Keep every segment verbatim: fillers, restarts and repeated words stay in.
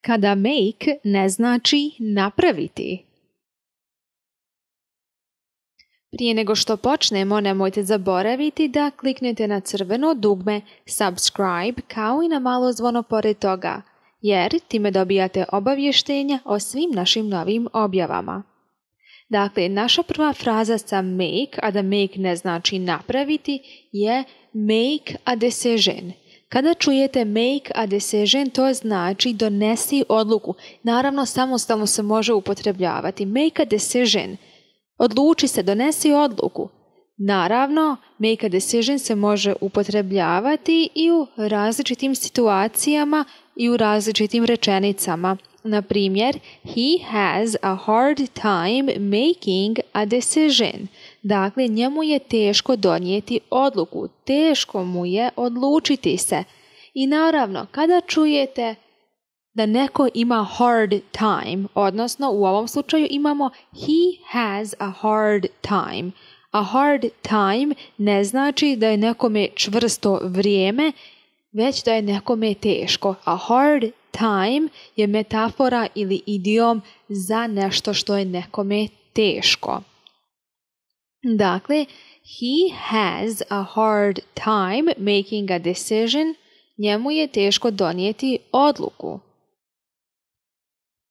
kada make ne znači napraviti. Prije nego što počnemo, nemojte zaboraviti da kliknete na crveno dugme subscribe kao i na malo zvono pored toga, jer time dobijate obavještenja o svim našim novim objavama. Dakle, naša prva fraza sa make, a da make ne znači napraviti, je make a decision. Kada čujete make a decision, to znači donesi odluku. Naravno, samostalno se može upotrebljavati. Make a decision. Odluči se, donesi odluku. Naravno, make a decision se može upotrebljavati i u različitim situacijama i u različitim rečenicama. Na primjer, he has a hard time making a decision. Dakle, njemu je teško donijeti odluku, teško mu je odlučiti se. I naravno, kada čujete da neko ima hard time, odnosno u ovom slučaju imamo he has a hard time. A hard time ne znači da je nekome čvrsto vrijeme, već da je nekome teško. A hard time je metafora ili idiom za nešto što je nekome teško. Dakle, he has a hard time making a decision. Njemu je teško donijeti odluku.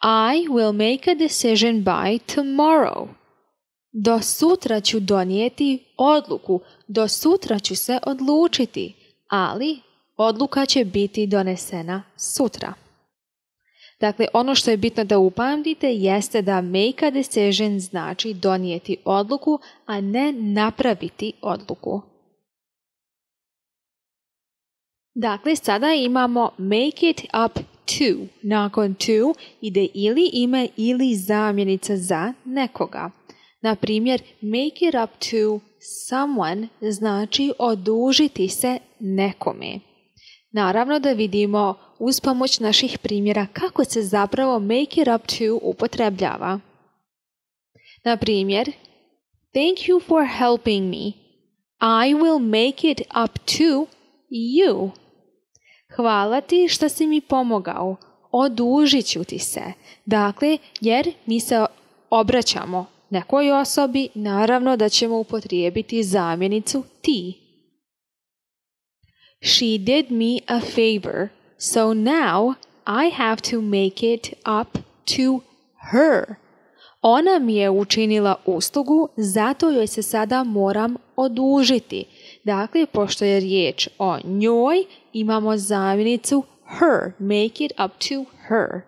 I will make a decision by tomorrow. Do sutra ću donijeti odluku. Do sutra ću se odlučiti, ali odluka će biti donesena sutra. Dakle, ono što je bitno da upamtite jeste da make a decision znači donijeti odluku, a ne napraviti odluku. Dakle, sada imamo make it up to. Nakon to ide ili ime ili zamjenica za nekoga. Na primjer, make it up to someone znači odužiti se nekome. Naravno da vidimo uz pomoć naših primjera kako se zapravo make it up to upotrebljava. Na primjer, thank you for helping me. I will make it up to you. Hvala ti što si mi pomogao. Odužit ću ti se. Dakle, jer mi se obraćamo nekoj osobi, naravno da ćemo upotrijebiti zamjenicu ti. She did me a favor, so now I have to make it up to her. Ona mi je učinila uslugu, zato joj se sada moram odužiti. Dakle, pošto je riječ o njoj, imamo zamjenicu her, make it up to her.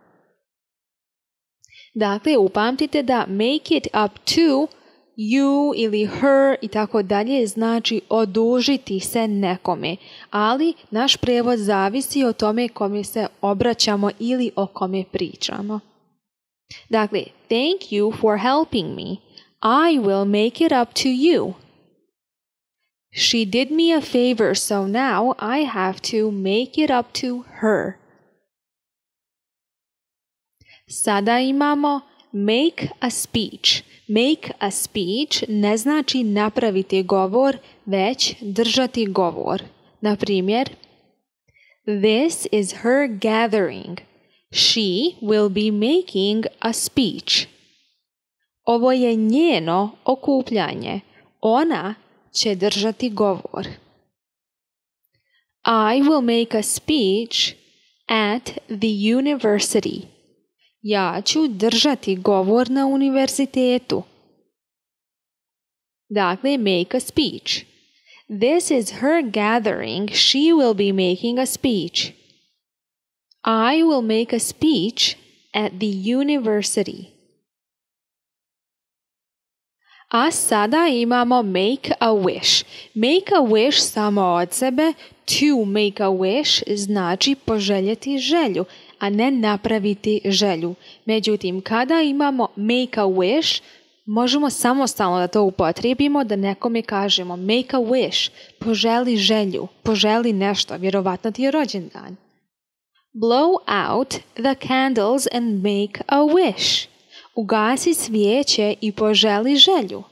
Dakle, upamtite da make it up to you ili her i tako dalje znači odužiti se nekome, ali naš prijevod zavisi o tome kome se obraćamo ili o kome pričamo. Dakle, thank you for helping me. I will make it up to you. She did me a favor, so now I have to make it up to her. Sada imamo make a speech. Make a speech ne znači napraviti govor, već držati govor. Na primjer, this is her gathering. She will be making a speech. Ovo je njeno okupljanje. Ona će držati govor. I will make a speech at the university. Ja ću držati govor na univerzitetu. Dakle, make a speech. This is her gathering. She will be making a speech. I will make a speech at the university. A sada imamo make a wish. Make a wish samo od sebe, to make a wish znači poželjeti želju, a ne napraviti želju. Međutim, kada imamo make a wish, možemo samostalno da to upotrijebimo, da nekome kažemo make a wish, poželi želju, poželi nešto, vjerovatno ti je rođendan. Blow out the candles and make a wish. Ugasi svijeće i poželi želju.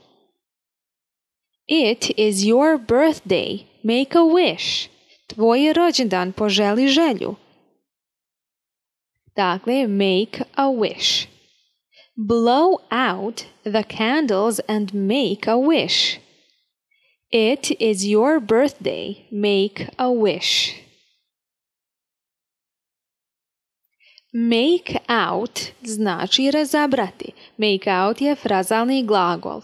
It is your birthday. Make a wish. Tvoj je rođendan, poželi želju. Dakle, make a wish. Blow out the candles and make a wish. It is your birthday. Make a wish. Make out znači razabrati. Make out je frazalni glagol.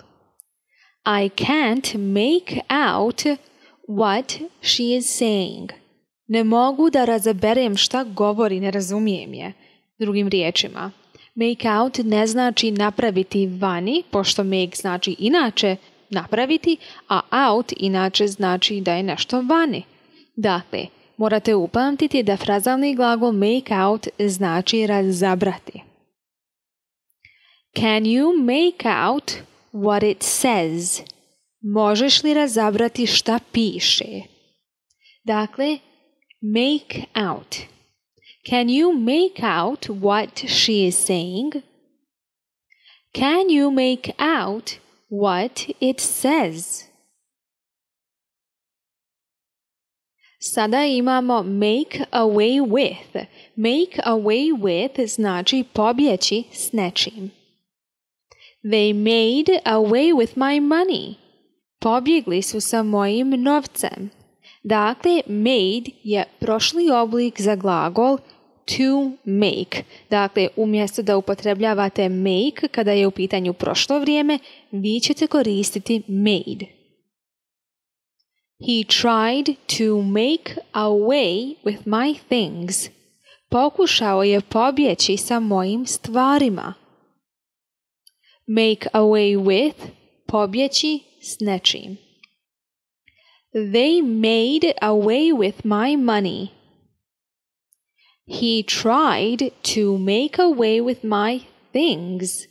I can't make out what she is saying. Ne mogu da razaberem šta govori, ne razumijem je. Drugim riječima, make out ne znači napraviti vani, pošto make znači inače napraviti, a out inače znači da je nešto vani. Dakle, morate upamtiti da frazalni glagol make out znači razabrati. Can you make out what it says? Možeš li razabrati šta piše? Dakle, make out. Can you make out what she is saying? Can you make out what it says? Sada imamo make away with. Make away with znači pobjeći s nečim. They made away with my money. Pobjegli su sa mojim novcem. Dakle, made je prošli oblik za glagol to make. Dakle, umjesto da upotrebljavate make kada je u pitanju prošlo vrijeme, vi ćete koristiti made. He tried to make away with my things. Pokušao je pobjeći sa mojim stvarima. Make away with, pobjeći s nečim. They made away with my money. He tried to make away with my things.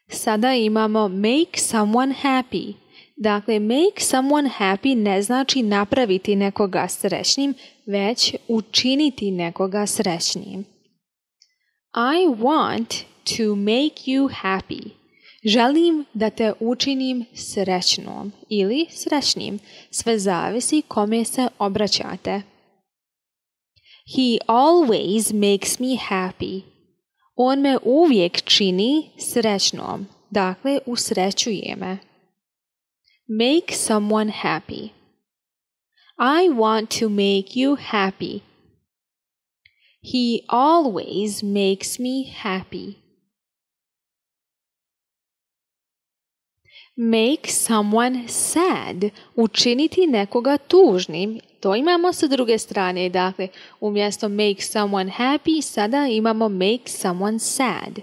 Sada imamo make someone happy. Dakle, make someone happy ne znači napraviti nekoga srećnim, već učiniti nekoga srećnim. I want to make you happy. Želim da te učinim srećnom ili srećnim. Sve zavisi kome se obraćate. He always makes me happy. On me uvijek čini srećnom. Dakle, usrećuje me. Make someone happy. I want to make you happy. He always makes me happy. Make someone sad. Učiniti nekoga tužnim. To imamo sa druge strane. Dakle, umjesto make someone happy, sada imamo make someone sad.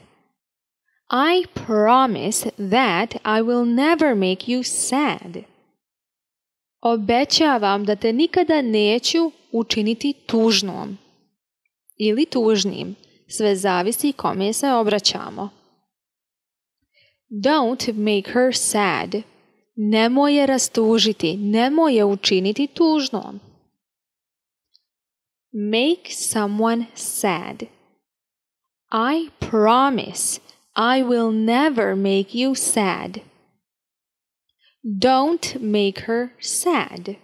I promise that I will never make you sad. Obećavam da te nikada neću učiniti tužnom ili tužnim. Sve zavisi kome se obraćamo. Don't make her sad. Nemoj je rastužiti, nemoj je učiniti tužnom. Make someone sad. I promise I will never make you sad. Don't make her sad.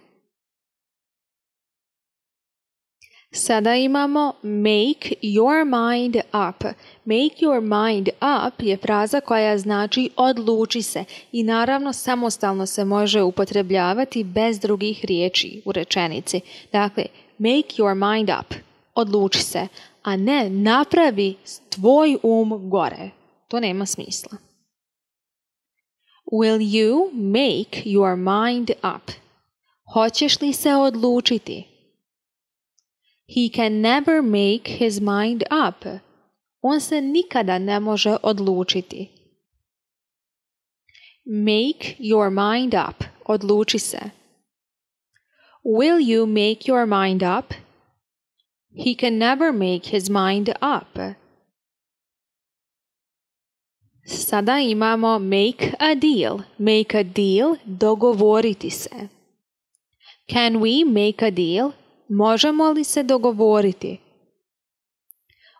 Sada imamo make your mind up. Make your mind up je fraza koja znači odluči se i naravno samostalno se može upotrebljavati bez drugih riječi u rečenici. Dakle, make your mind up. Odluči se, a ne napravi tvoj um gore. To nema smisla. Will you make your mind up? Hoćeš li se odlučiti? He can never make his mind up. On se nikada ne može odlučiti. Make your mind up. Odluči se. Will you make your mind up? He can never make his mind up. Sada imamo make a deal. Make a deal, dogovoriti se. Can we make a deal? Možemo li se dogovoriti?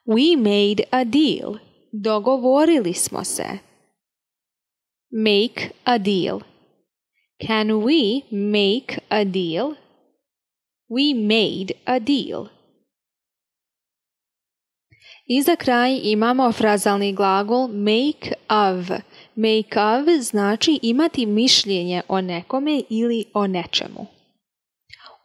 We made a deal. Dogovorili smo se. Make a deal. Can we make a deal? We made a deal. I za kraj imamo frazalni glagol make of. Make of znači imati mišljenje o nekome ili o nečemu.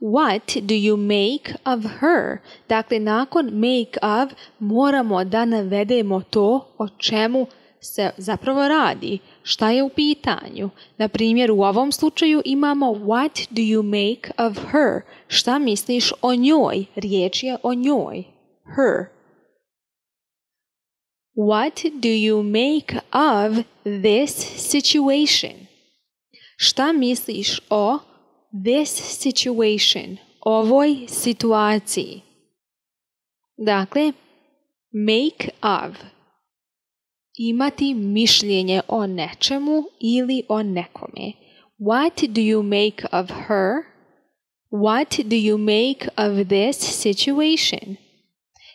What do you make of her? Dakle, nakon make of moramo da navedemo to o čemu se zapravo radi, šta je u pitanju. Na primjer, u ovom slučaju imamo what do you make of her? Šta misliš o njoj? Riječ je o njoj. Her. What do you make of this situation? Šta misliš o this situation, ovoj situaciji? Dakle, make of. Imati mišljenje o nečemu ili o nekome. What do you make of her? What do you make of this situation?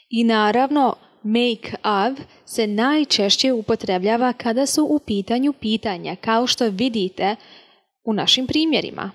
I naravno, make of se najčešće upotrebljava kada su u pitanju pitanja, kao što vidite u našim primjerima.